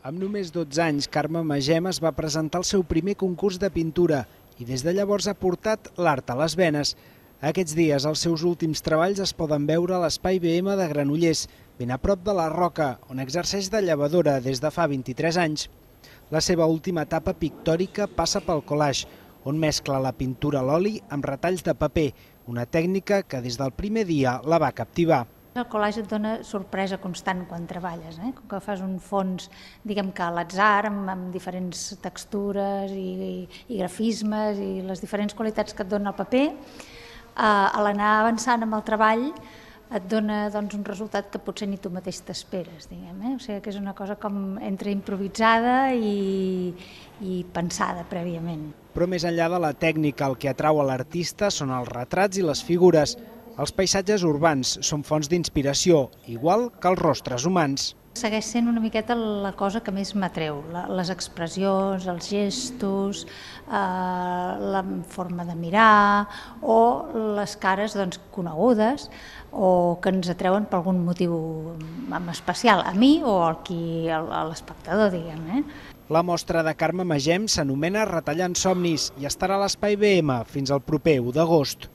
Amb només 12 anys, Carme Magem es va presentar al seu primer concurs de pintura i des de llavors ha portat l'art a les venes. Aquests dies els seus últims treballs es poden veure a l'Espai BM de Granollers, ben a prop de la Roca, on exerceix de llevadora des de fa 23 anys. La seva última etapa pictòrica passa pel collage, on mescla la pintura a l'oli amb retalls de paper, una tècnica que des del primer dia la va captivar. El collage et dona sorpresa constant quan treballes, com que fas un fons, diguem que a l'atzar, amb diferents textures i grafismes i les diferents qualitats que et dona el paper. A l'anar avançant amb el treball et dona un resultat que potser ni tu mateix t'esperes, diguem. O sigui que és una cosa com entre improvisada i pensada prèviament. Però més enllà de la tècnica, el que atrau a l'artista són els retrats i les figures. Els paisatges urbans són fonts d'inspiració, igual que els rostres humans. Segueix sent una miqueta la cosa que més m'atreu, les expressions, els gestos, la forma de mirar o les cares conegudes o que ens atreuen per algun motiu especial, a mi o a l'espectador, diguem. La mostra de Carme Magem s'anomena Retallant somnis i estarà a l'Espai BM fins al proper 1 d'agost.